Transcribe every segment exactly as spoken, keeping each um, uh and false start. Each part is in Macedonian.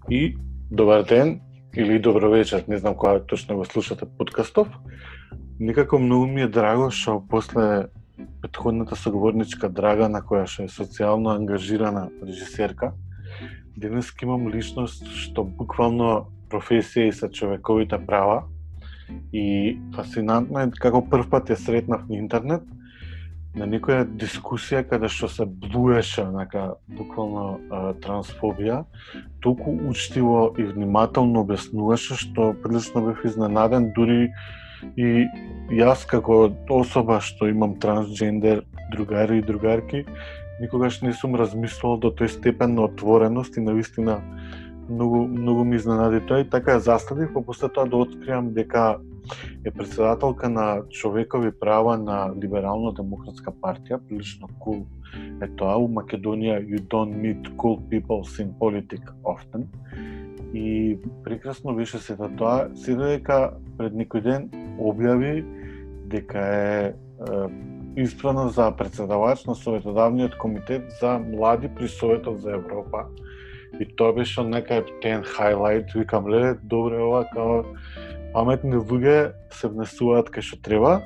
И добар ден или добро вечер, не знам кога точно го слушате подкастов. Никако многу ми е драго што после претходната соговорничка Драгана, која што е социјално ангажирана режисерка, денес имам личност што буквално професија и са човековите права. И фасцинантно е како прв пат ја сретнав на интернет на некоја дискусија каде што се блуеше онака буквално а, трансфобија, толку учтиво и внимателно објаснуваше што прилично бев изненаден, дури и јас како особа што имам трансджендер другари и другарки, никогаш не сум размислувал до тој степен на отвореност и навистина многу многу ми изненади тоа и така ја заставив, па после тоа да откриам дека е председателка на човекови права на Либерално-демократска партија, прилично cool е тоа. У Македонија you don't meet cool people in politics often. И прекрасно беше сета тоа, се дека пред некој ден објави дека е, е избрана за председавач на Советодавниот комитет за млади при Советот за Европа. И тоа беше нека ептен хайлайт, викам, леле, добре ова, као паметни луѓе се внесуваат кај што треба.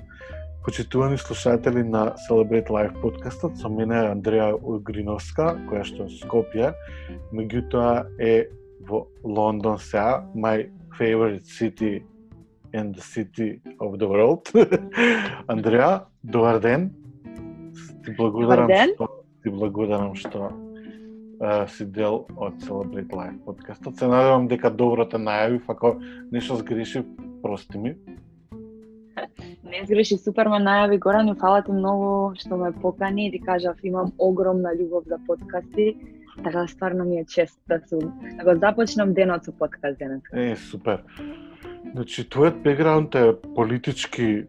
Почитувани слушатели на Celebrate Life подкастот, со мене е Андреја Угриновска, која што е Скопје, меѓутоа е во Лондон сега, my favorite city and the city of the world. Андреја, добар ден. Ти благодарам што ти благодарам што Uh, си дел од Celebrate Life подкастот. Се надевам дека добро те најавив, ако нешто сгрешив, прости ми. Не сгреши, супер ме најави, Горан, и фала ти многу што ме покани и ти кажав, имам огромна љубов за подкасти, така стварно ми е чест да сум, да го започнам денот со подкаст денес. Е, супер. Значи, твојот бекграунд е политички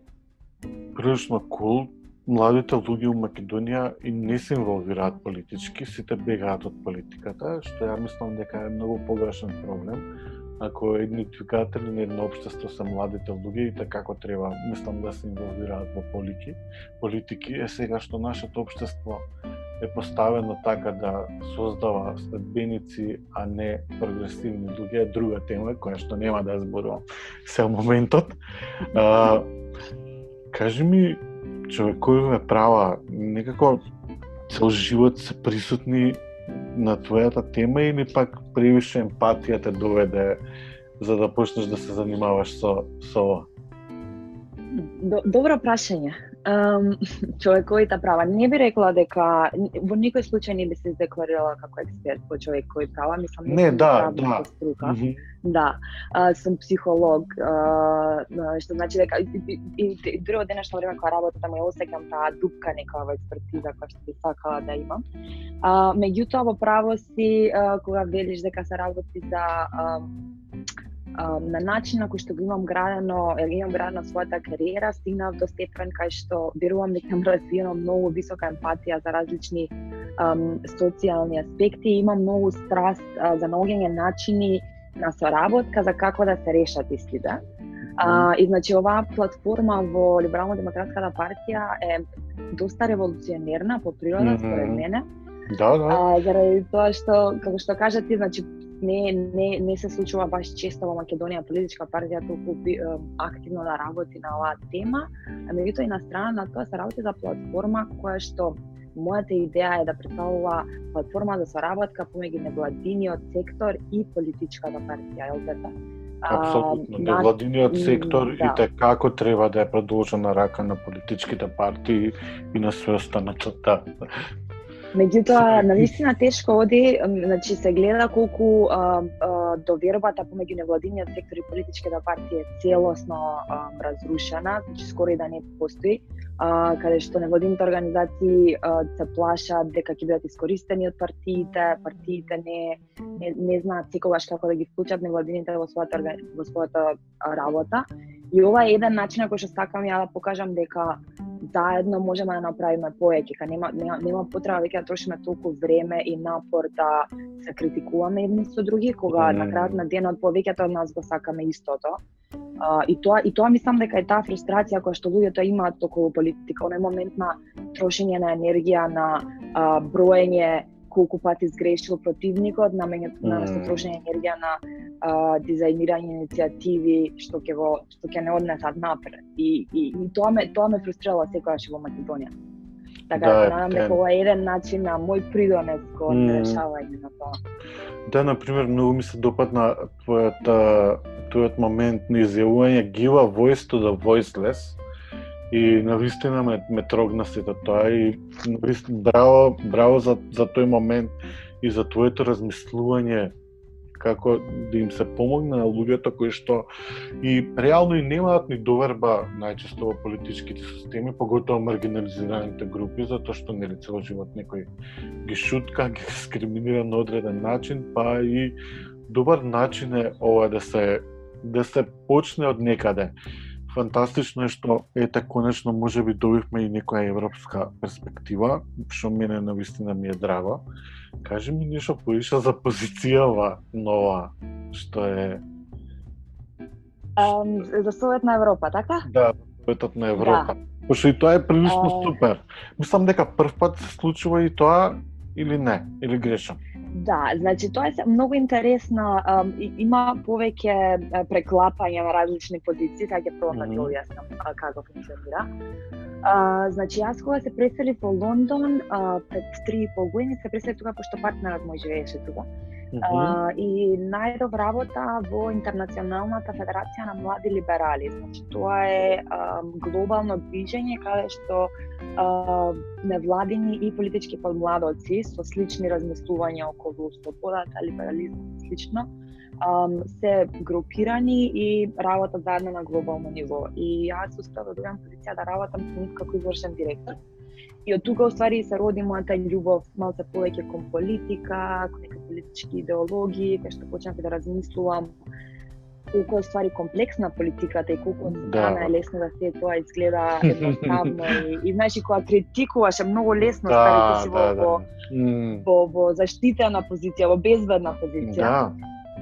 прилично кул. Младите луѓе у Македонија и не се инволвираат политички, сите бегаат од политиката, што ја мислам дека е многу погрешен проблем. Ако едни двигатели на едно општество се младите луѓе и така како треба, мислам да се инволвираат во политики. Политики е сега што нашето општество е поставено така да создава следбеници, а не прогресивни луѓе, е друга тема која што нема да ја зборувам се моментот. А, кажи ми, човековите права некако цел живот се присутни на твојата тема или пак превише емпатија те доведе за да почнеш да се занимаваш со со ова? Добро прашање. Um, човековите права. Не би рекла дека во никој случај не би се декларирала како експерт по човекови права, мислам не, да, да. Струка. Mm-hmm. Да, а, сум психолог, а, што значи дека и, и, и, и дури од денешно време кога работам ја осеќам таа дупка нека во експертиза која што би сакала да имам. А, меѓутоа во право си а, кога велиш дека се работи за а, а, на начин на кој што го имам градено, имам градена својата кариера, стигнав до степен кај што верувам дека имам развиено многу висока емпатија за различни um, социјални аспекти, имам многу страст а, за наоѓање начини на соработка за како да се решат истите. А, и значи оваа платформа во Либерално-демократската партија е доста револуционерна по природа, mm-hmm. според мене. Да, да. А, заради тоа што, како што кажа ти, значи не не не се случува баш често во Македонија политичка партија толку активно да работи на оваа тема, а меѓутоа и на страна на тоа се работи за платформа која што мојата идеја е да представува платформа за соработка помеѓу невладиниот сектор и политичката партија, е така? Апсолутно. Невладиниот сектор да. И те како треба да е продолжена рака на политичките партии и на све останато. Меѓутоа, навистина тешко оди, значи се гледа колку а, а, довербата помеѓу невладиниот сектор и политичките партии е целосно а, разрушена, значи скоро и да не постои, а, каде што невладините организации а, се плашат дека ќе бидат искористени од партиите, партиите не не, не знаат секогаш како да ги вклучат невладините во својата во својата работа. И ова е еден начин на кој што сакам ја да покажам дека заедно можеме да направиме повеќе, ка нема нема, нема потреба веќе да трошиме толку време и напор да се критикуваме едни со други, кога mm. на крајот на денот повеќето од нас го сакаме истото. Uh, и тоа и тоа мислам дека е таа фрустрација која што луѓето имаат околу политика, оној момент на трошење на енергија, на uh, броење колку пати сгрешил противникот, намењето на mm. трошење енергија на а, дизајнирање иницијативи што ќе го што ќе не однесат напред. И, и, и тоа ме тоа ме фрустрирало секогаш во Македонија. Така да, надам дека ова е еден начин на мој придонес кон mm. решавање на тоа. Да, например, многу ми се допадна твојата тојот момент на изјавување give a voice to the voiceless. И навистина ме, ме трогна сето тоа и навистина браво, браво за, за тој момент и за твоето размислување како да им се помогне на луѓето кои што и реално и немаат ни доверба најчесто во политичките системи, поготово маргинализираните групи, затоа што нели цело живот некој ги шутка, ги дискриминира на одреден начин, па и добар начин е ова да се да се почне од некаде. Фантастично е што ете конечно можеби добивме и некоја европска перспектива, што мене навистина ми е драго. Кажи ми нешто повише за позицијава нова, што е um, за Совет на Европа, така? Да, Советот на Европа. Да. Пошто и тоа е прилично uh... супер. Мислам дека прв пат се случува и тоа или не, или грешам. Да, значи тоа е многу интересна, um, има повеќе преклапања на различни позиции, така ќе пробам да ти објаснам како функционира. Uh, значи јас кога се преселив во Лондон uh, пред три и пол години, се преселив тука пошто партнерот мој живееше тука. Uh, и најдов работа во Интернационалната федерација на млади либерали. Значи тоа е uh, глобално движење каде што uh, невладини и политички подмладоци со слични размислувања околу слободата, либерализмот и слично um, се групирани и работат заедно на глобално ниво. И јас успеав да добиам позиција да работам со нив како извршен директор. И од тука уствари се роди мојата љубов малце повеќе кон политика, кон некои политички идеологии, кај што почнав да размислувам колку е ствари комплексна политиката и колку од страна е лесно да се тоа изгледа едноставно и, и знаеш и кога критикуваш е многу лесно да, ставите си во, да, да. во, mm. во, во заштитена позиција, во безбедна позиција. Да,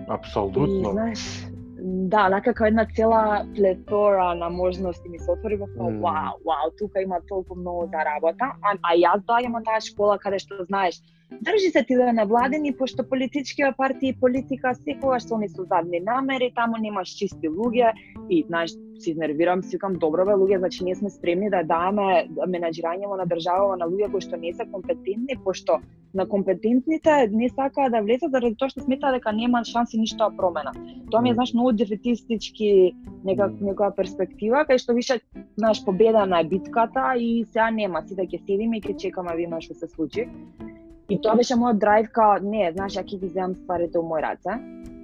апсолутно. И знаеш, да, некако една цела плетора на можности ми се отвори во тоа, mm. вау, вау, тука има толку многу за работа, а, а јас доаѓам од таа школа каде што знаеш, држи се ти да невладени, пошто политичките партии и политика секогаш се они со задни намери, таму немаш чисти луѓе и знаеш, се изнервирам, си викам добро бе луѓе, значи ние сме спремни да даваме менаџирање на држава на луѓе кои што не се компетентни, пошто на компетентните не сакаат да влезат заради тоа што сметаат дека нема шанси ништо да промена. Тоа ми е знаеш многу дефетистички нека некоја перспектива кај што више знаеш победена е битката и сега нема, сите ќе седиме и ќе чекаме да видиме што се случи. И тоа беше мојот драйв као не, знаеш, ја ќе ги земам стварите во мој раце.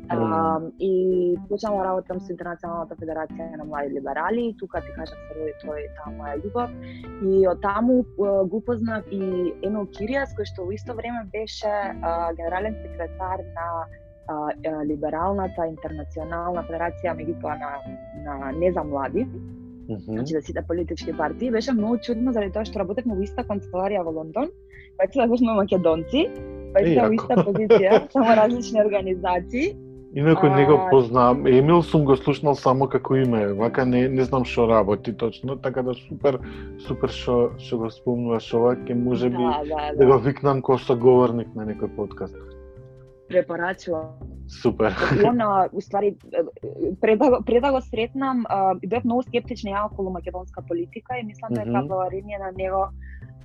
Mm. Um, и почнав да работам со Интернационалната федерација на млади либерали, тука ти кажам се роди тој таа моја љубов. И од таму uh, го познав и Емил Киријас, кој што во исто време беше uh, генерален секретар на uh, либералната Интернационална федерација, меѓутоа на, на не за млади. Mm-hmm. Значи да сите политички партии. Беше многу чудно заради тоа што работевме во иста канцеларија во Лондон, пак се бевме македонци, пак се во иста позиција, само различни организации. Инако не го познавам. Емил сум го слушнал само како име, вака не не знам што работи точно, така да супер супер што што го спомнуваш ова, ќе можеби да, да, да. да го викнам како соговорник на некој подкаст. Препорачувам. Супер. И она, уствари, пред да, пред да го сретнам, бев многу скептична ја околу македонска политика и мислам дека mm-hmm. благодарение на него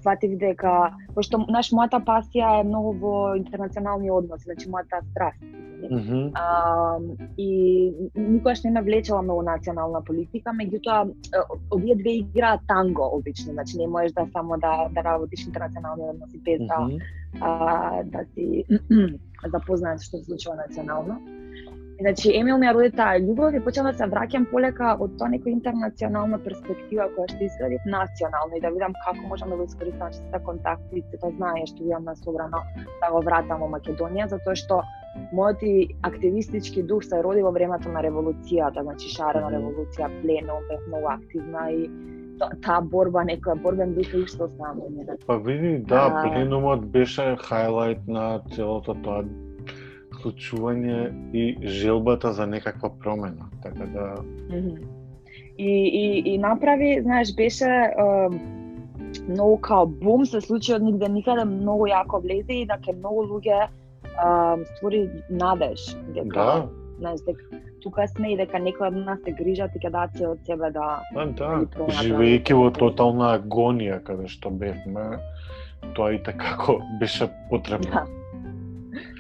сватив дека, пошто наш мојата пасија е многу во интернационални односи, значи мојата страст. Mm-hmm. А, и никогаш не ме влечела многу национална политика, меѓутоа овие две играат танго обично, значи не можеш да само да да работиш интернационални односи без да mm-hmm. а, да си запознаеш што се случува национално. Значи, Емил ми ја роди таа љубов и почнав да се враќам полека од тоа некоја интернационална перспектива која што изградив национално и да видам како можам да го искористам сите контакти, сето знаење што имам на собрано да го вратам во Македонија, затоа што мојот активистички дух се роди во времето на револуцијата, значи шарена револуција, пленум, бев многу активна и таа борба, некоја борбен дух и што оставам во неја. Па види, да, а... пленумот беше хайлайт на целото тоа случување и желбата за некаква промена, така да... Mm-hmm. И, и, и направи, знаеш, беше... Uh, многу као бум се случи од нигде никаде, многу јако влезе и дека многу луѓе uh, створи надеж дека Да. знаеш дека тука сме и дека некој од нас се грижат и ќе дадат се од себе да А, да, Или промена живеејќи во правилно. тотална агонија каде што бевме, тоа и така беше потребно. Да.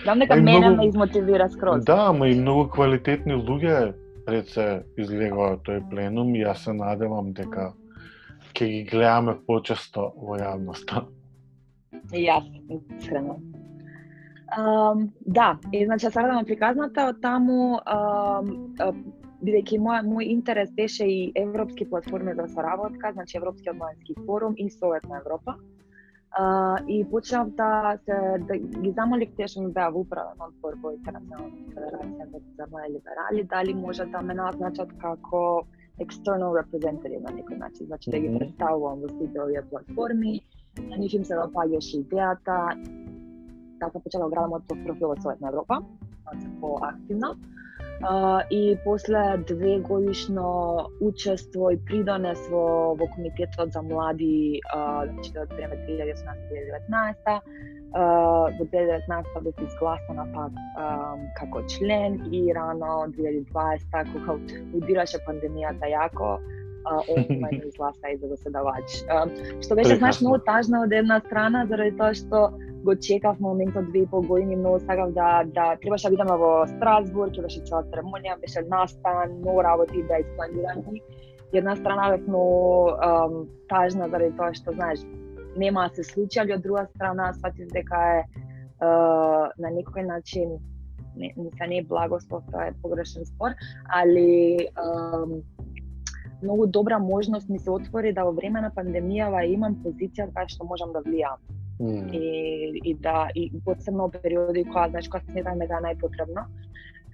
Знам дека А и мене многу- ме измотивира скроз. Да, ама и многу квалитетни луѓе пред се излегува тој пленум и јас се надевам дека ќе ги гледаме почесто во јавноста. И јас, искрено. Um, да, и значи сега да ме приказната од таму, um, uh, бидејќи мој мој интерес беше и европски платформи за соработка, значи Европскиот младински форум и Совет на Европа. Uh, и почнав да се да ги замолив тие што ми беа во управен одбор во Интернационалната федерација за млади либерали, дали може да ме назначат како external representative на некој начин, значи да ги Мгм. представувам во сите овие платформи. На нив им се допаѓаше идејата, така почнав да градам од профил од Совет на Европа, значи поактивно. Uh, и после две годишно учество и придонес во, во Комитетот за млади, uh, значи од време две илјади и осумнаесета - две илјади и деветнаесета, uh, во две илјади и деветнаесета бев изгласана пак um, како член и рано две илјади и дваесета кога удираше пандемијата јако, uh, онлайн изгласа и за заседавач. Uh, што беше знаеш Прекрасно. многу тажно од една страна заради тоа што го чекав моментот две и пол години, многу сакав да да требаше да бидеме во Страсбург, ќе беше цела церемонија, беше настан, многу работи да испланирани. Една страна бев многу um, тажна заради тоа што знаеш нема да се случи, али од друга страна сватив дека е uh, на некој начин не, не, не е благослов, тоа е погрешен спор, али um, многу добра можност ми се отвори да во време на пандемијава имам позиција кај што можам да влијам. Mm. И, и да и посебно периоди кога знаеш кога сметам дека е најпотребно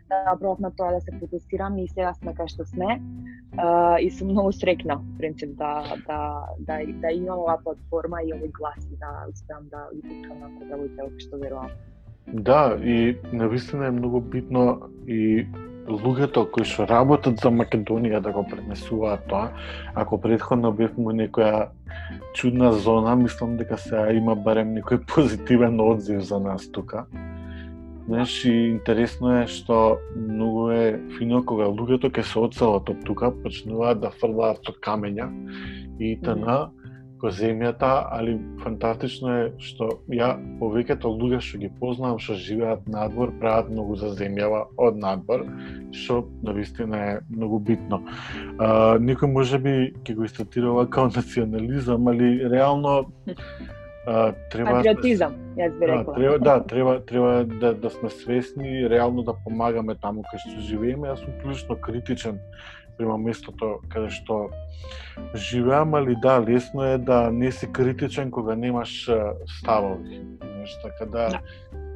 да пробав на тоа да се фокусирам и сега сме кај што сме uh, и сум многу среќна принцип да да да да имам оваа платформа и овој глас и да успеам да ги путкам на потребите што верувам. Да, и навистина е многу битно и луѓето кои што работат за Македонија да го пренесуваат тоа. Ако претходно бевме во некоја чудна зона, мислам дека сега има барем некој позитивен одзив за нас тука. Знаеш, и интересно е што многу е фино кога луѓето ќе се одселат од тука, почнуваат да фрлаат со камења и т.н. Ко земјата, али фантастично е што ја повеќето луѓе што ги познавам што живеат надвор прават многу за земјава од надвор, што навистина е многу битно. А, некој можеби ќе го истатира као национализам, али реално а, треба Патриотизам, јас би Да, рекла. треба, да, треба, треба да, да сме свесни и реално да помагаме таму кај што живееме. Јас сум прилично критичен према местото каде што живеам, али да, лесно е да не си критичен кога немаш а, ставови. Знаеш, така да, Да.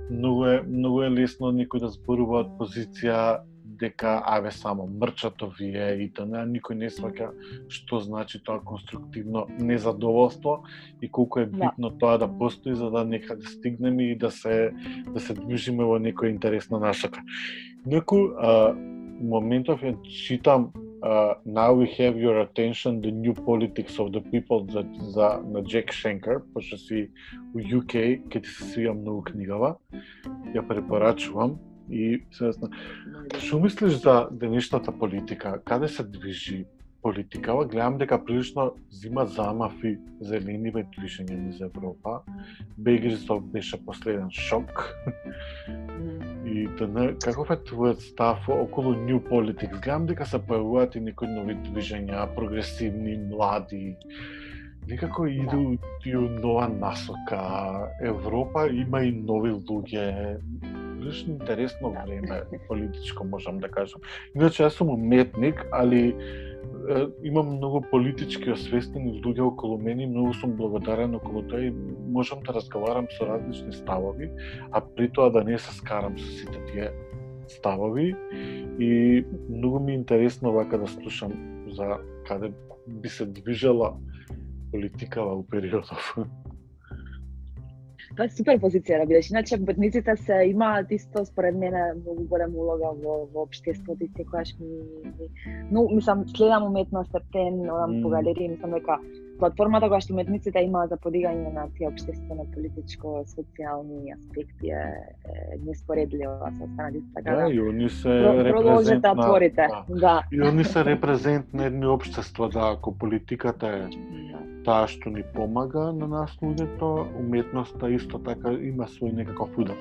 многу е многу е лесно некој да зборува од позиција дека аве само мрчато вие и т.н. Никој не сваќа што значи тоа конструктивно незадоволство и колку е битно да. тоа да постои за да некаде стигнеме и да се да се движиме во некоја интересна насока. Некој а, моментов ја читам uh, Now We Have Your Attention, The New Politics of the People за, за на Джек Шенкер, пошто си у Ю Кеј, ке ти се свија многу книгава, ја препорачувам. И сега, што мислиш за денешната политика? Каде се движи политикава? Гледам дека прилично зима замафи зелениве движење низ Европа. Брексит беше последен шок. И да, каков е твојот став околу New Politics? Гледам дека се појавуваат и некои нови движења, прогресивни, млади. Некако иду и нова насока. Европа има и нови луѓе. Прилично интересно време политичко, можам да кажам. Иначе јас сум уметник, али е, имам многу политички освестени луѓе околу мене, многу сум благодарен околу тоа и можам да разговарам со различни ставови, а при тоа да не се скарам со сите тие ставови. И многу ми е интересно вака да слушам за каде би се движела политикава у периодов. Тоа е супер позиција, да бидеш. Иначе ботниците се имаат исто според мене многу голема улога во во општеството и секогаш ми, ми но мислам следам уметност, тен, одам mm. по галерии, мислам дека платформата која што уметниците имаат за подигање на тие општествено политичко социјални аспекти е, е неспоредлива со останатите, така да, и они се продолжете репрезент да на отворите. да. Да. И они се репрезент на едни општества, да, ако политиката е таа што ни помага на нас луѓето, уметноста исто така има свој некаков удар.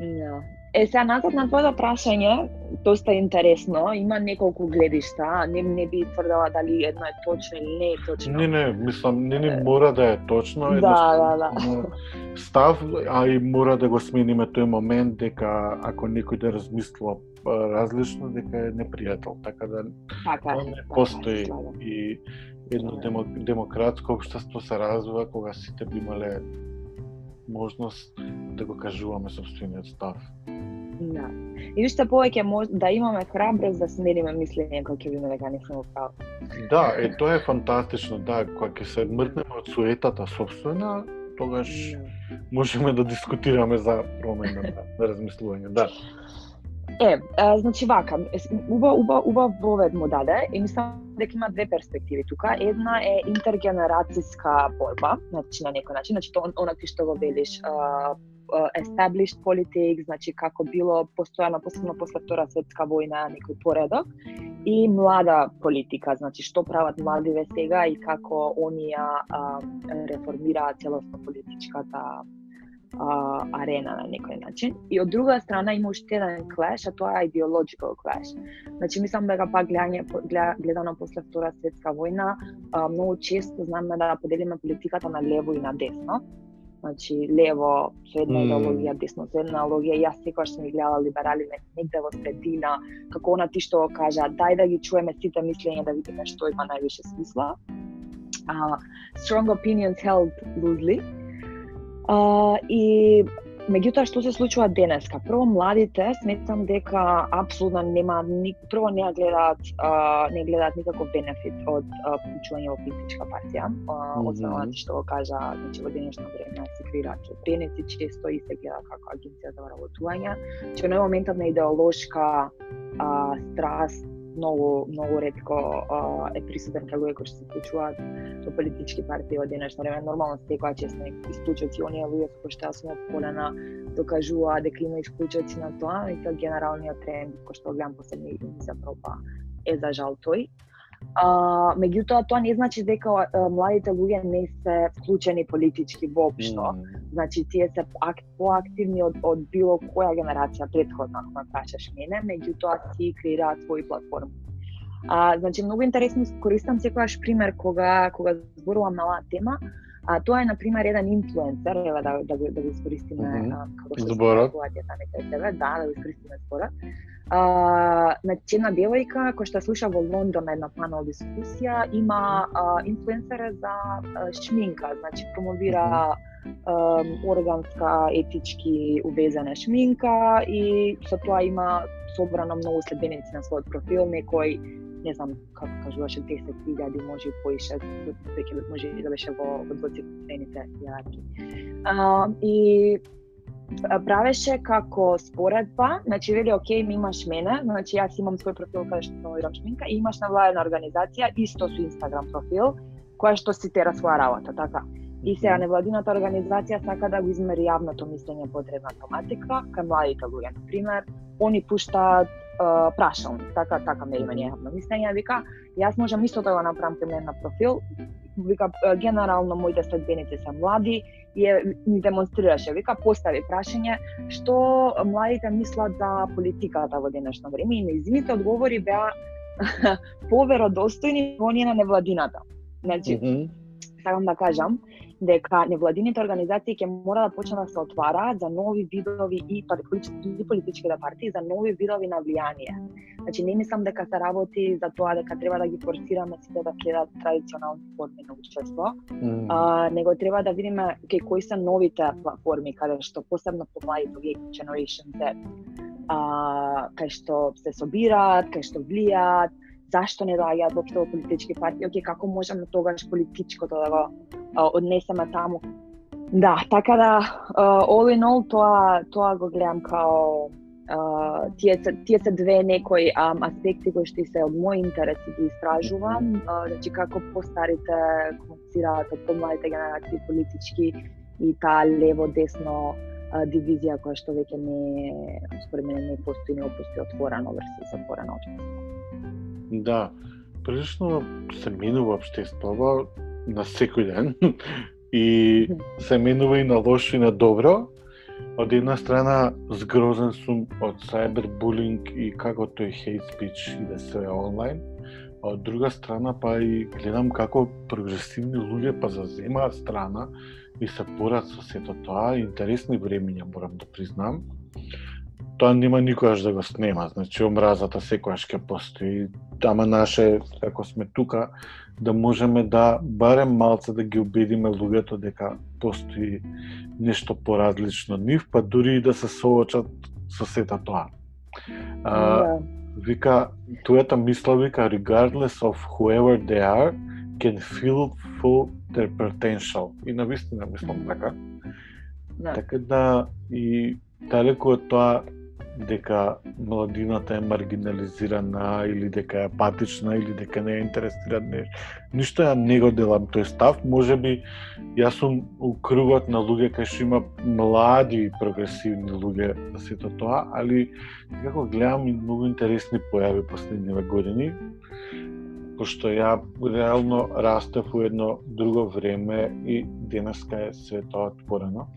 Да. Е, сега назад на твоето прашање, доста интересно, има неколку гледишта, не, не би тврдела дали едно е точно или не е точно. Не, не, мислам, не ни мора да е точно, Да, едноставно да, да. став, а и мора да го смениме тој момент дека ако некој да размислува различно, дека е непријател, така да Така, не така, постои слагам. и едно демо, демократско општество се развива кога сите би имале можност да го кажуваме сопствениот став. Да. И уште повеќе мож... да имаме храброст да смениме мислење кога ќе видиме дека не сме во право. Да, е тоа е фантастично, да, кога ќе се мртнеме од суетата собствена, тогаш Да. можеме да дискутираме за промена на размислување, да. Е, а, значи вака, убав убав убав вовед му даде и мислам дека има две перспективи тука. Една е интергенерацијска борба, значи на некој начин, значи тоа она ти што го велиш, а, established politics, значи како било постојано, посебно после Втора светска војна, некој поредок, и млада политика, значи што прават младиве сега и како они ја реформираат целосно политичката а, арена на некој начин. И од друга страна има уште еден clash, а тоа е ideological clash. Значи мислам дека пак гледање гледано после Втора светска војна, а, многу често знаме да поделиме политиката на лево и на десно. Значи лево со една идеологија, десно со една идеологија. Јас секогаш сум ги гледала либерали негде во средина, како она ти што кажа, дај да ги чуеме сите мислења да видиме што има највише смисла. Uh, strong opinions held loosely. Uh, и меѓутоа што се случува денеска? Прво младите сметам дека апсолутно нема ни прво не гледаат uh, не гледаат никаков бенефит од uh, вклучување во политичка партија. Uh, освен она што го кажа, значи во денешно време се креираат членици често и се гледа како агенција за вработување. Че на моментот на идеолошка uh, страст многу многу ретко uh, е присутен кај луѓе кои што се вклучуваат во политички партии во денешно време. Нормално секоја често исклучоци оние луѓе со кои што јас сум опколена докажува дека има исклучоци на тоа, и тоа генералниот тренд кој што гледам последни години запроба е за жал тој. Uh, меѓутоа тоа не значи дека uh, младите луѓе не се вклучени политички воопшто. Mm. Значи тие се ак, поактивни од, од било која генерација претходна, ако ме прашаш мене, меѓутоа си креираат своји платформи. Uh, значи многу интересно користам секогаш пример кога кога зборувам на оваа тема. А тоа е на пример еден инфлуенсер, еве да да го да го искористиме mm -hmm. како што зборат таму тебе, да, да го искористиме зборот. А, значи една девојка која што слуша во Лондон една панел дискусија, има а, инфлуенсера за а, шминка, значи промовира а, органска, етички увезена шминка и со тоа има собрано многу следбеници на својот профил, некој не знам како кажуваше десет илјади, може и поише, веќе може и да беше во во двоцифрените јарки. А, и правеше како споредба, значи вели окей, ми имаш мене, значи јас имам свој профил каде што промовирам шминка и имаш невладена организација исто со Инстаграм профил која што си тера своја работа, така. И сега невладината организација сака да го измери јавното мислење по одредна тематика кај младите луѓе, на пример, они пуштаат Uh, прашалник, така, така мериме ние јавно мислење, вика, јас можам исто да го направам кај мене на профил, вика, генерално моите следбеници се млади и ни демонстрираше, вика, постави прашање што младите мислат за политиката во денешно време и нејзините одговори беа поверодостојни во оние на невладината. Значи, mm -hmm. сакам да кажам дека невладините организации ќе мора да почнат да се отвараат за нови видови и политичките партии за нови видови на влијание. Значи не мислам дека се работи за тоа дека треба да ги форсираме сите да следат традиционални форми на општество, mm. а, него треба да видиме кај кои се новите платформи каде што посебно по младите Generation Z, а, кај што се собираат, кај што влијаат, зашто не доаѓаат воопшто во политички партии, окей, како можеме тогаш политичкото да го а, однесеме таму. Да, така да, uh, all in all, тоа, тоа го гледам као Uh, тие, се, тие се две некои um, аспекти кои што се од мој интерес ги истражувам, uh, значи како постарите комуницираат од помладите генерации политички и таа лево-десно uh, дивизија која што веќе не, според мене, не постои, не постои отворено версус затворено општество. Да, прилично се менува општеството на секој ден и се менува и на лошо и на добро. Од една страна згрозен сум од cyberbullying и како тој hate speech иде све онлайн, а од друга страна па и гледам како прогресивни луѓе па заземаат страна и се борат со сето тоа. Интересни времиња, морам да признам. Тоа нема никогаш да го снема, значи омразата секогаш ќе постои, ама наше, ако сме тука, да можеме да барем малце да ги убедиме луѓето дека постои нешто поразлично од нив, па дури и да се соочат со сета тоа. А, yeah. Вика, туета мисла вика, regardless of whoever they are, can feel full their potential. И навистина мислам така. Yeah. Така да и далеку од тоа дека младината е маргинализирана или дека е апатична или дека не е интересира нешто. Ништо ја не го делам тој став, можеби јас сум у кругот на луѓе кај што има млади прогресивни луѓе за сето тоа, али како гледам и многу интересни појави последниве години, пошто ја реално растев у едно друго време и денеска е све тоа отворено.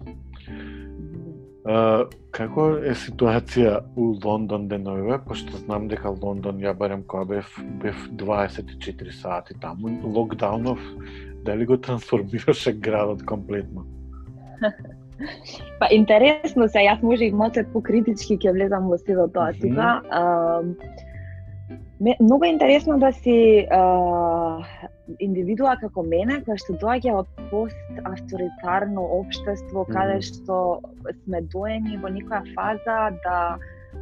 Uh, како е ситуација у Лондон деновиве, пошто знам дека Лондон, ја барем кога бев, бев дваесет и четири сати таму, локдаунов, дали го трансформираше градот комплетно? Па интересно се, јас може и малце покритички ќе влезам во сето тоа тука. Mm-hmm. Uh, многу интересно да си uh, индивидуа како мене, која што доаѓа од пост-авторитарно општество, mm-hmm. каде што сме доени во некоја фаза да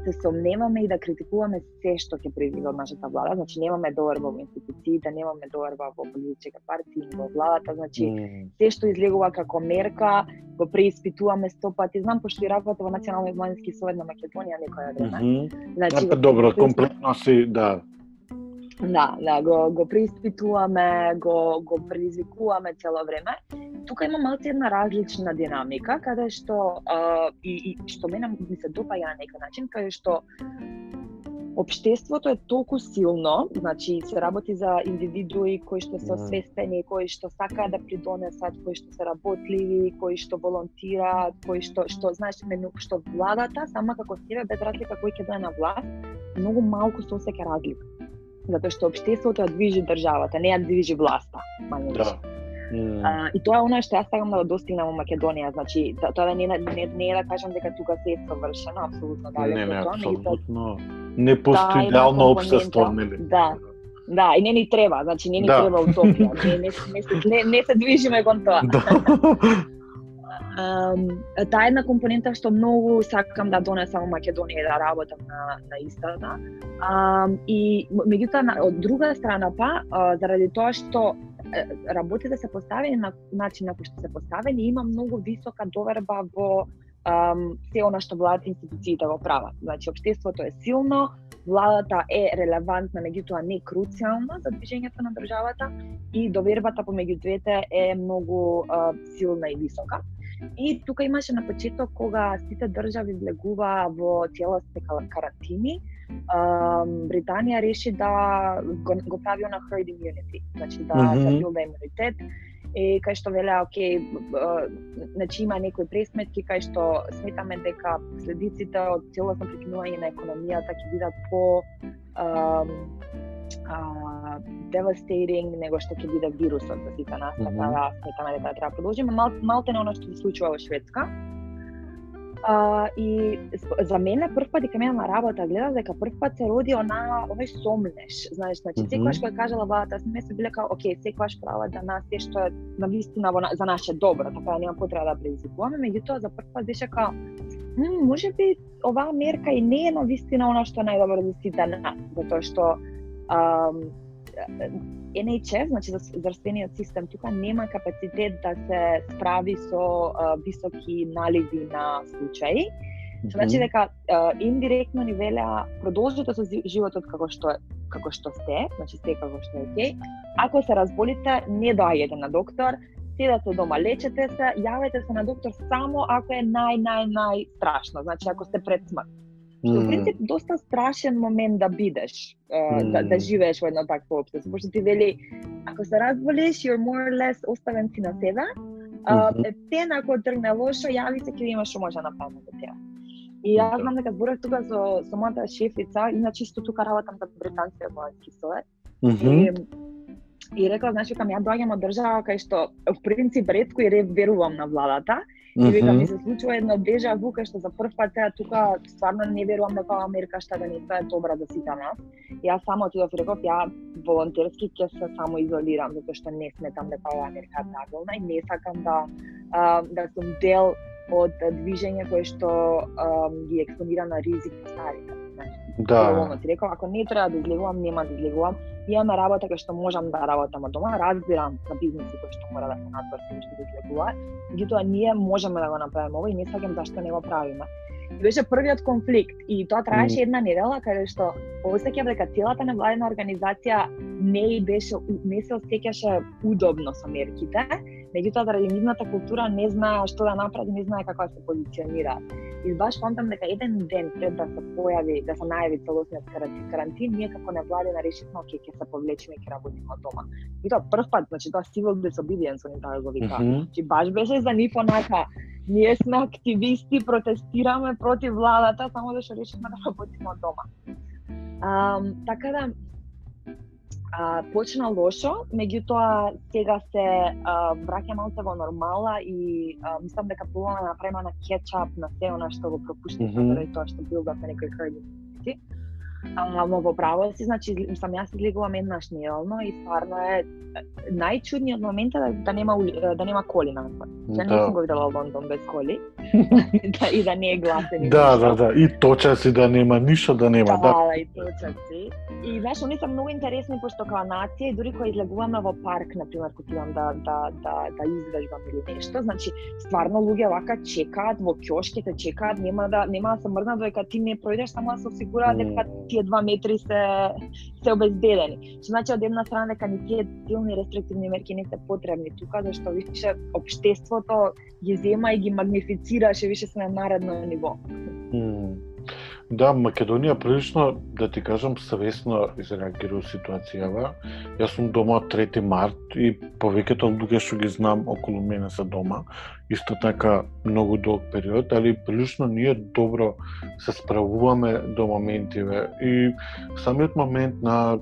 се сомневаме и да критикуваме се што ќе произведе од нашата влада. Значи, немаме доверба во институциите, немаме доверба во политичките партии, во владата. Значи, mm-hmm. се што излегува како мерка, го преиспитуваме сто пати. Знам, пошто и работа во Националниот младински совет на Македонија некоја време. Mm-hmm. Значи, а, добро, комплетно си, да. Да, да, го, го преиспитуваме, го, го предизвикуваме цело време. Тука има малку една различна динамика, каде што а, и, и што мене ми се допаѓа на некој начин, каде што општеството е толку силно, значи се работи за индивидуи кои што се освестени, кои што сакаат да придонесат, кои што се работливи, кои што волонтираат, кои што што знаеш мену што владата сама како себе без разлика кој ќе дојде на власт, многу малку се осеќа разлика. Затоа што општеството ја движи државата, не ја движи власта, мање да. Mm. А, и тоа е оно што јас сакам да го достигнам во Македонија, значи тоа не, не, не е да кажам дека тука се е совршено, апсолутно да. Не, не, апсолутно. Не постои идеално општество, нели? Да. Да, и не ни треба, значи не ни да. Треба утопија, не, не, не, не, не се движиме кон тоа. Да. Um, таа една компонента што многу сакам да донесам во Македонија и да работам на, на истата. Um, и меѓутоа од друга страна па, uh, заради тоа што работите се поставени на начин на кој што се поставени, има многу висока доверба во um, се она што владата институциите го прават. Значи, општеството е силно, владата е релевантна, меѓутоа не круцијална за движењето на државата и довербата помеѓу двете е многу uh, силна и висока. И тука имаше на почеток кога сите држави влегуваа во целосни карантини, Британија реши да го, го прави на herd immunity, значи да mm-hmm. да билда имунитет. И кај што велеа, окей, значи има некои пресметки кај што сметаме дека последиците од целосно прекинување на економијата ќе бидат по а, а, devastating него што ќе биде вирусот за сите нас, така mm-hmm. да сметаме дека треба продолжиме. Мал, малте на оно што се случува во Шведска. Uh, и за мене прв пат дека мене на работа гледав дека прв пат се роди она овој сомнеш, знаеш, значи секогаш кога кажала владата, сме се биле као окей, секогаш права да нас е што е навистина за наше добро, така нема потреба да предизвикуваме, меѓутоа за прв пат беше као м, можеби оваа мерка и не е навистина она што е најдобро за сите нас, затоа што um, Ен Ејч Ес, значи здравствениот систем тука нема капацитет да се справи со а, високи наливи на случаи Што значи дека uh, индиректно ни велеа продолжете со животот како што како што сте, значи сте како што е окей. Ако се разболите, не доаѓате на доктор, седете дома, лечете се, јавете се на доктор само ако е нај нај нај страшно, значи ако сте пред смрт. Што mm. в принцип доста страшен момент да бидеш, uh, mm. да, да живееш во едно такво општество, пошто ти вели ако се разболиш, you're more or less оставен си на себе. Uh, mm-hmm. Пен ако тргне лошо, јави се ќе имаш што може да направиме за тебе. И јас знам дека зборев тука со со мојата шефица, иначе исто тука работам за британскиот военски совет. Mm-hmm. И, и рекла, значи, кога ја доаѓам од држава кај што в принцип ретко и верувам на владата, mm-hmm. и века ми се случува едно дежа ву кај што за прв пат теа тука стварно не верувам дека Америка што да не е добра за сите нас. И јас само отидов и реков, ја волонтерски ќе се само изолирам затоа што не сметам дека ова Америка е правилна и не сакам да а, да сум дел од движење кое што а, ги експонира на ризик старите. Значи, да. Ти реков, ако не треба да излегувам, нема да излегувам. Имаме работа кај што можам да работам од дома, разбирам за бизниси кои што мора да се надврши што да излегуваат. Меѓутоа ние можеме да го направиме ова и не сакам зашто не го правиме. И беше првиот конфликт и тоа траеше mm. една недела каде што осеќав дека целата невладина организација не беше не се осеќаше удобно со мерките, меѓутоа заради нивната култура не знае што да направи, не знае како да се позиционира. И баш фантам дека еден ден пред да се појави, да се најави целосниот карантин, ние како невладина решивме оке ќе се повлечеме и ќе работиме од дома. И тоа прв пат, значи тоа civil disobedience они тоа го вика. Mm-hmm. Чи баш беше за нив онака. Ние сме активисти, протестираме против владата, само зашто решивме да работиме од дома. А, така да а, почна лошо, меѓутоа сега се а, враќа малку во нормала и а, мислам дека пробуваме да направиме на кетчап на се она што го пропуштивме mm-hmm. заради тоа што бил да се некои хрди. Ама во право си, значи, сам јас излегувам еднаш неделно и стварно е најчудниот момент е да, да нема да нема коли надвор. Ја не сум го видела Лондон без коли. да, и да не е гласен. Да, да, да, и точаци да нема ништо да нема, да. Да, и точаци. И знаеш, они се многу интересни пошто као нација и дури кога излегуваме во парк, на пример, кога идам да да да да извежбам или нешто, значи стварно луѓе вака чекаат во ќошките, чекаат, нема да нема да се мрднат додека ти не пројдеш, само да се осигураат дека тие два метри се се обезбедени. Што значи од една страна дека ни тие силни рестриктивни мерки не се потребни тука, зашто више општеството ги зема и ги магнифицираше, више се на наредно ниво. Mm. Да, Македонија прилично, да ти кажам, свесно изреагира ситуацијава. Јас сум дома од трети март и повеќето луѓе што ги знам околу мене се дома. Исто така многу долг период, али прилично ние добро се справуваме до моментиве. И самиот момент на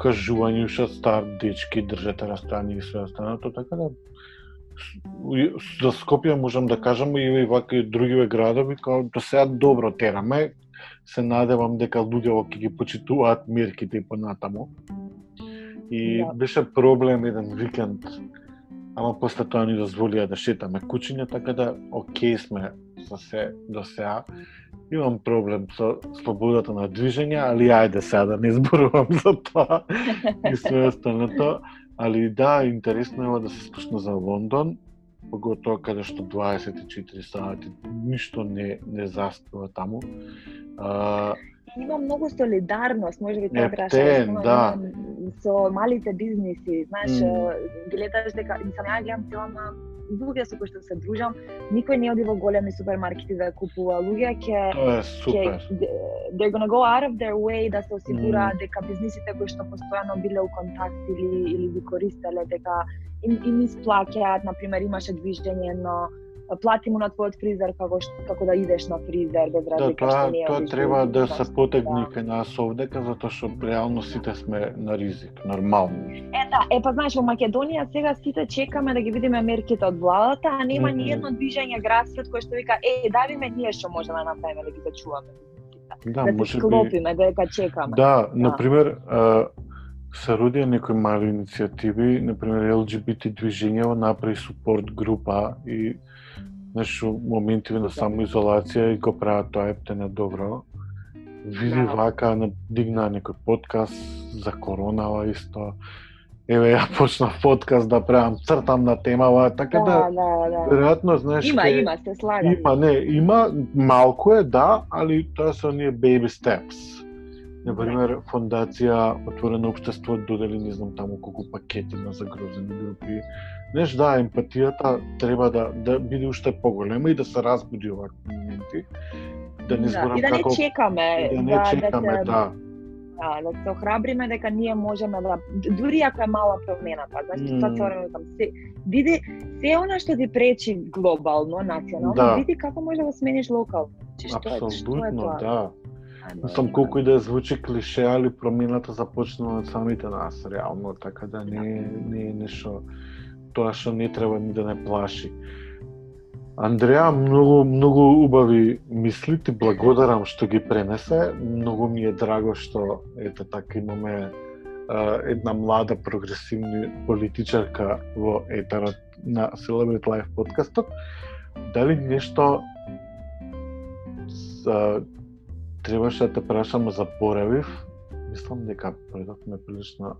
кажување уште стар дечки, држете растојание и све останато, така да за Скопје можам да кажам и вака и другиве градови као до сега добро тераме. Се надевам дека луѓе ќе ги почитуваат мерките и понатаму. И да. Беше проблем еден викенд, ама после тоа ни дозволија да шетаме кучиња, така да окей сме со се до сега. Имам проблем со слободата на движење, али ајде сега да не зборувам за тоа и све останато. Али да, интересно е да се слушна за Лондон, поготоа каде што дваесет и четири сати ништо не не заспива таму. А... Има многу солидарност, може би тоа требаше да. Со малите бизниси, знаеш, mm. гледаш дека сам ја гледам целама луѓе со кои што се дружам, никој не оди во големи супермаркети да купува. Луѓе ќе ќе they're gonna go out of their way да се осигураат mm. дека бизнисите кои што постојано биле у контакт или или ги користеле дека им им исплаќаат, на пример имаше движење но плати му на твојот фризер како како да идеш на фризер без разлика да, што не е. Тоа треба да се потегне кај нас овдека затоа што реално сите сме на ризик, нормално. Е да, е па знаеш во Македонија сега сите чекаме да ги видиме мерките од владата, а нема mm-hmm. ни едно движење грасрод кој што вика е давиме ние што можеме да направиме да ги зачуваме. Да, да може се склопиме би... дека чекаме. Да, да. На пример, се родија некои мали иницијативи, на пример Ел Џи Би Ти движењево направи супорт група и нешто моментиве на самоизолација и го прават тоа ептено добро. Види да. Вака, дигна некој подкаст за коронава исто. еве ја почнав подкаст да правам, цртам на темава, така да, да, да, да. веројатно знаеш Има, ке, има, се слагам. Има, не, има малку е, да, али тоа се оние baby steps. Например, фондација Отворено општество додели не знам таму колку пакети на загрозени групи. Знаеш, да, емпатијата треба да да биде уште поголема и да се разбуди овакви моменти. Да не зборам да, и да не како чекаме, да не да, чекаме, да, се, да. да, да се охрабриме дека ние можеме да, дури ако е мала промената, значи mm. тоа се време се види се она што ти пречи глобално, национално, да. види како може да смениш локално. Чи што е, што е тоа? Да. Мислам, колку и да звучи клише, али промената започнува од самите нас, реално, така да не, не е нешто тоа што не треба ни да не плаши. Андреа, многу, многу убави мисли, ти благодарам што ги пренесе. Многу ми е драго што, ете така, имаме а, една млада прогресивна политичарка во етерот на Celebrity Life подкастот. Дали нешто за требаше да те прашам, заборавив? Мислам дека предавме прилично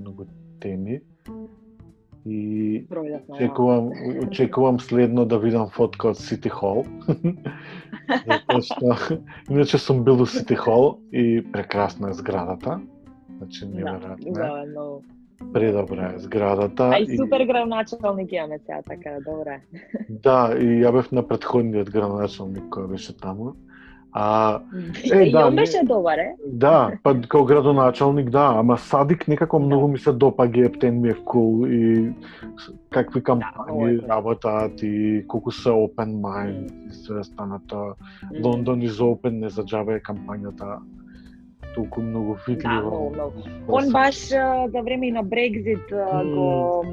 многу теми. И очекувам, очекувам следно да видам фотка од Сити Хол. Затоа што иначе сум бил у Сити Хол и прекрасна е зградата. Значи неверојатно. Да, но предобра е зградата. А и супер градоначалник имаме сега, така добре. Да, и ја бев на претходниот градоначалник кој беше таму. А, е, и да, он беше добар, е? Да, па као градоначалник, да, ама Садик некако многу ми се допаѓа, Ептен ми е cool и какви кампањи да, работаат и колку се open mind и све станато. Mm. Лондон is open, не заџабе кампањата толку многу видливо. Да, многу, многу. Он баш за време и на Брекзит mm. го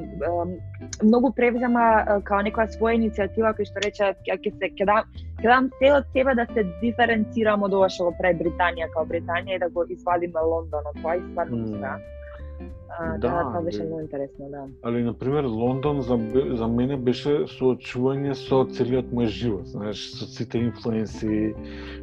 многу превзема као некоја своја иницијатива кој што рече ќе се ќе дам ќе дам се од себе да се диференцирам од ова што го прави Британија као Британија и да го извадиме Лондон од тоа и стварно mm. да. А, да, тоа беше многу интересно, да. Али, например, Лондон за, за мене беше соочување со целиот мој живот, знаеш, со сите инфлуенси,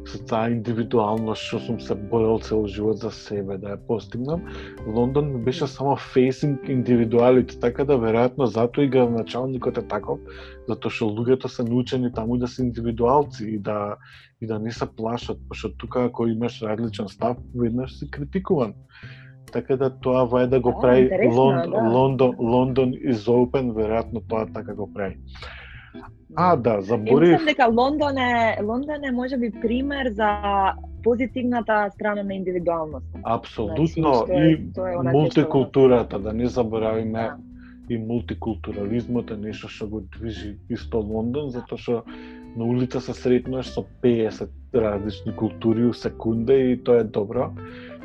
со таа индивидуалност што сум се борел цел живот за себе да ја постигнам. Лондон ми беше само facing индивидуалите, така да веројатно затоа и градоначалникот е таков, затоа што луѓето се научени таму да се индивидуалци и да и да не се плашат, пошто тука ако имаш различен став, веднаш си критикуван. Така да тоа вај да го прави Лондон, да. Лондон, Лондон is open, веројатно тоа така го прави. А, да, заборив. Мислам дека Лондон е, Лондон е можеби пример за позитивната страна на индивидуалност. Апсолутно, значи, и е мултикултурата, да не заборавиме, да. И мултикултурализмот е нешто што го движи исто Лондон, затоа што на улица се сретнуваш со пеесет различни култури у секунда и тоа е добро.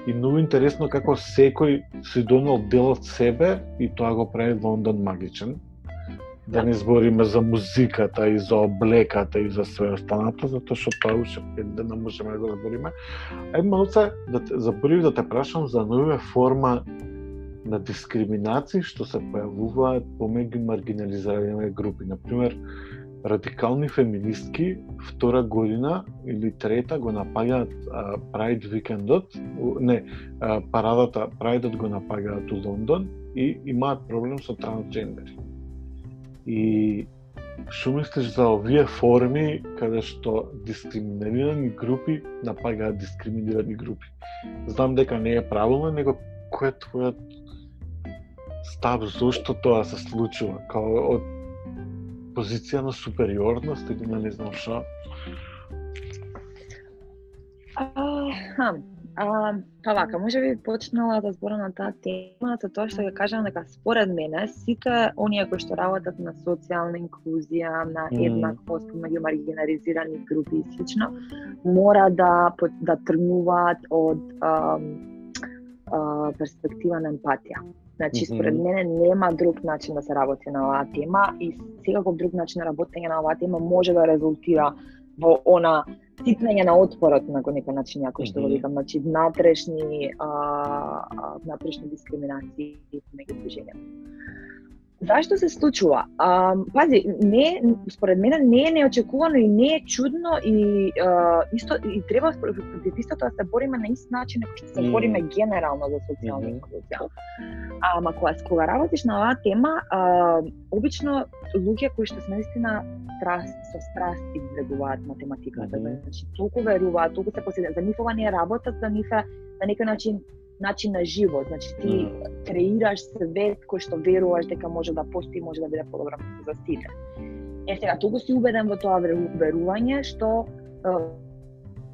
И многу интересно како секој си донел дел од себе и тоа го прави Лондон магичен. Да не збориме за музиката и за облеката и за све останато, затоа што тоа уште пет дена можеме да го збориме. Ај малце да те заборив да те прашам за нова форма на дискриминација што се појавуваат помеѓу маргинализирани групи. Например, радикални феминистки втора година или трета го напаѓаат Прайд викендот, не, а, парадата Прайдот го напаѓаат у Лондон и имаат проблем со трансджендери. И што мислиш за овие форми каде што дискриминирани групи напаѓаат дискриминирани групи? Знам дека не е правилно, него кој е твојот став, зошто тоа се случува? Као од позиција на супериорност или на не знам што? Аха, а, па вака, може би почнала да зборам на таа тема, за тоа што ќе кажам дека според мене сите оние кои што работат на социјална инклузија, на еднаквост меѓу маргинализирани групи и слично, мора да да тргнуваат од а, а, перспектива на емпатија. Значи, според мене нема друг начин да се работи на оваа тема и секаков друг начин на работење на оваа тема може да резултира во она ситнење на отпорот на некој начин, ако што го викам, значи внатрешни а, внатрешни дискриминации меѓу движењата. Зашто се случува? А, пази, не, според мене не е неочекувано и не е чудно и а, исто и треба против истото да се бориме на ист начин како што се Mm. бориме генерално за социјална Мгм. инклузија. Ама кога кога работиш на оваа тема, а, обично луѓе кои што се наистина страст со страст изгледуваат математиката, Мгм. значи толку веруваат, толку се посветени, за нив ова не е работа, за нив е на некој начин начин на живот, значи ти Мгм. креираш свет кој што веруваш дека може да постои, може да биде подобро за сите. Е сега, толку си убеден во тоа верување што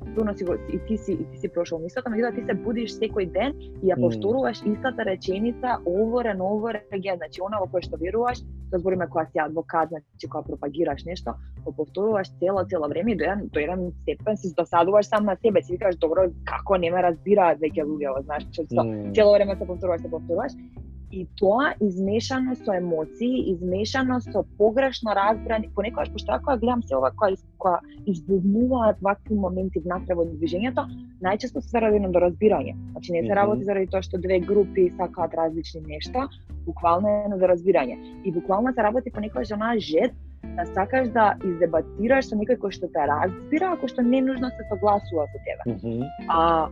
сигурно си го и ти си и ти си прошол мислата, меѓутоа ти се будиш секој ден и ја Мм. повторуваш истата реченица over and over again, значи она во кое што веруваш, тоа збориме кога си адвокат, значи кога пропагираш нешто, го повторуваш цело цело време и до еден до еден степен се досадуваш сам на себе, си викаш добро како не ме разбираат веќе луѓето, знаеш, што Мм. цело време се повторуваш, се повторуваш. И тоа измешано со емоции, измешано со погрешно разбрани, понекогаш пошто ја кога гледам се ова кога кога избувнуваат вакви моменти внатре во движењето, најчесто се заради недоразбирање. Значи не се Мгм. работи заради тоа што две групи сакаат различни нешта, буквално е недоразбирање. И буквално се работи понекогаш за онаа жет да сакаш да издебатираш со некој кој што те разбира, ако што не нужно се согласува со тебе. Мгм. А,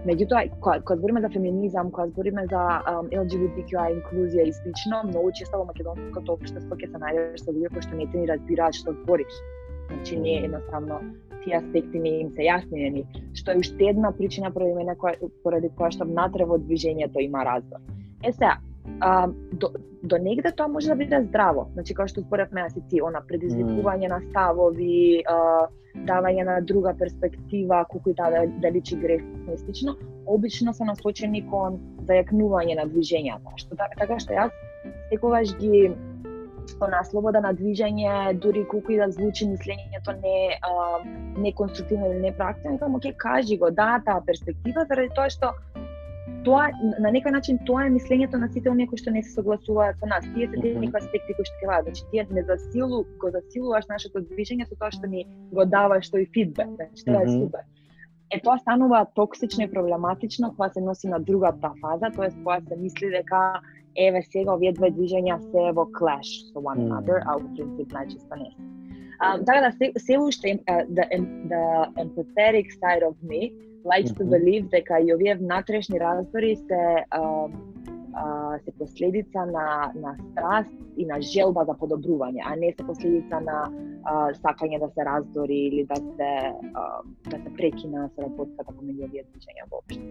меѓутоа, кога, кога збориме за феминизам, кога збориме за um, Ел Џи Би Ти Кју А инклузија и слично, многу често во македонското општество ќе се најдеш со луѓе кои што не те ни разбираат што збориш. Значи не е едноставно тие аспекти не им се јасни ни, што е уште една причина поради мене која поради која што внатре во движењето има раздор. Е сега, а, до, до негде тоа може да биде здраво. Значи како што зборевме јас и ти, она предизвикување на ставови, а, давање на друга перспектива, колку и таа да, да личи грешно и слично, обично се насочени кон зајакнување на движењата. Што така што јас секогаш ги она слобода на движење, дури колку и да звучи мислењето не а, не конструктивно или не практично, само ќе кажи го, да, таа перспектива, заради тоа што тоа на некој начин тоа е мислењето на сите оние кои што не се согласуваат со нас. Тие се тие Мгм. некои аспекти кои што ќе ваат, значи тие не засилу, го засилуваш нашето движење со тоа што ни го даваш тој фидбек, значи тоа е Мгм. супер. Е тоа станува токсично и проблематично кога се носи на другата фаза, тоест кога се мисли дека еве сега овие две движења се во clash со one Мм. another, а во принцип најчесто не се. Um, така да се, се уште uh, the, the empathetic side of me likes to Мгм. believe дека и овие внатрешни раздори се uh, uh, се последица на на страст и на желба за подобрување, а не се последица на uh, сакање да се раздори или да се uh, да се прекина соработката помеѓу овие движења воопшто.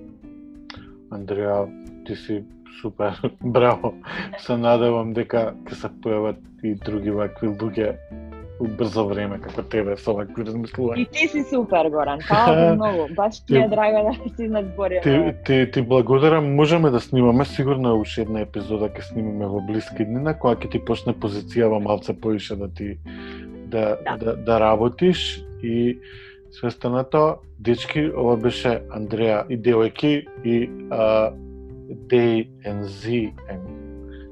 Андреа, ти си супер, браво. Се надевам дека ќе се појават и други вакви луѓе у брзо време како тебе со вакви размислувања. И ти си супер, Горан. Фала ти многу. Баш ми е драго да си надзбориме. Ти, ти, ти благодарам, можеме да снимаме, сигурно уште една епизода ќе снимаме во блиски днина, кога ќе ти почне позицијава малце поише да ти да, Да. да, да работиш и све останато, дечки, ова беше Андреа и девојки и а, Day and Z and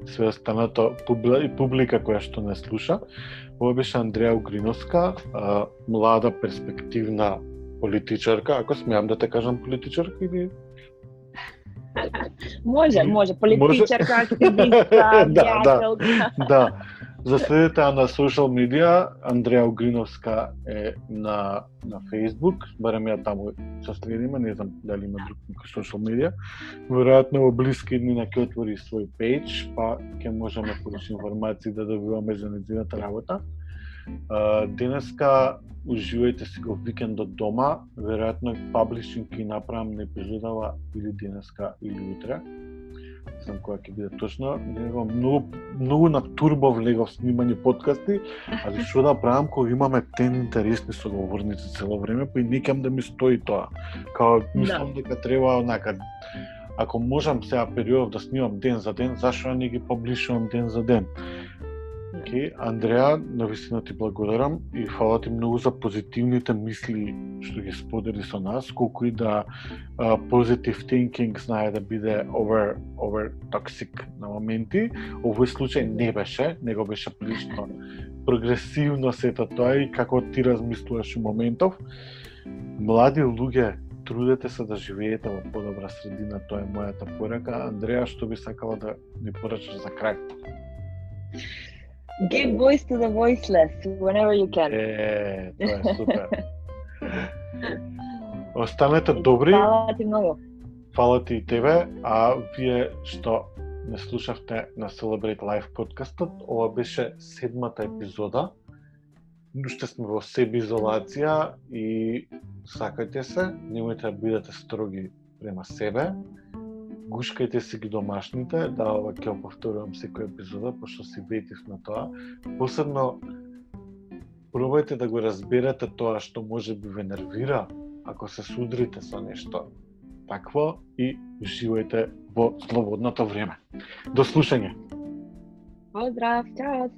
све останато публи, и публика која што не слуша. Ова беше Андреа Угриновска, а, млада перспективна политичарка, ако смеам да те кажам политичарка или Може, може. Политичарка, активистка, Да, да. пријателка. да. За следете на социјал медија, Андреа Угриновска е на на Facebook, барем ја таму се следиме, не знам дали има друг некој социјал медија. Веројатно во блиски дни ќе отвори свој пејдж, па ќе можеме повеќе информации да добиваме за нејзината работа. Uh, денеска уживајте си го викендот дома, веројатно паблишинг ќе направам на епизодава или денеска или утре. Не знам кога ќе биде точно. Него многу многу на турбо влегов снимање подкасти, али што да правам кога имаме тен интересни соговорници цело време, па и никам да ми стои тоа. Као мислам дека треба онака, ако можам сега период да снимам ден за ден, зашто не ги паблишувам ден за ден? Okay. Андреа, навистина ти благодарам и фала ти многу за позитивните мисли што ги сподели со нас, колку и да uh, positive thinking знае да биде over, over toxic на моменти. Овој случај не беше, него беше прилично прогресивно сето тоа и како ти размислуваш у моментов. Млади луѓе, трудете се да живеете во подобра средина, тоа е мојата порака. Андреа, што би сакала да ми порачаш за крај? Give voice to the voiceless whenever you can. Е, тоа е супер. Останете добри. Фала ти многу. Фала ти и тебе, а вие што не слушавте на Celebrate Life подкастот, ова беше седмата епизода. Уште сме во себеизолација и сакајте се, немојте да бидете строги према себе. Гушкајте си ги домашните, да, ова ќе го повторувам секоја епизода, пошто си ветив на тоа. Посебно, пробајте да го разберете тоа што може би ве нервира, ако се судрите со нешто такво и уживајте во слободното време. До слушање! Поздрав, чао!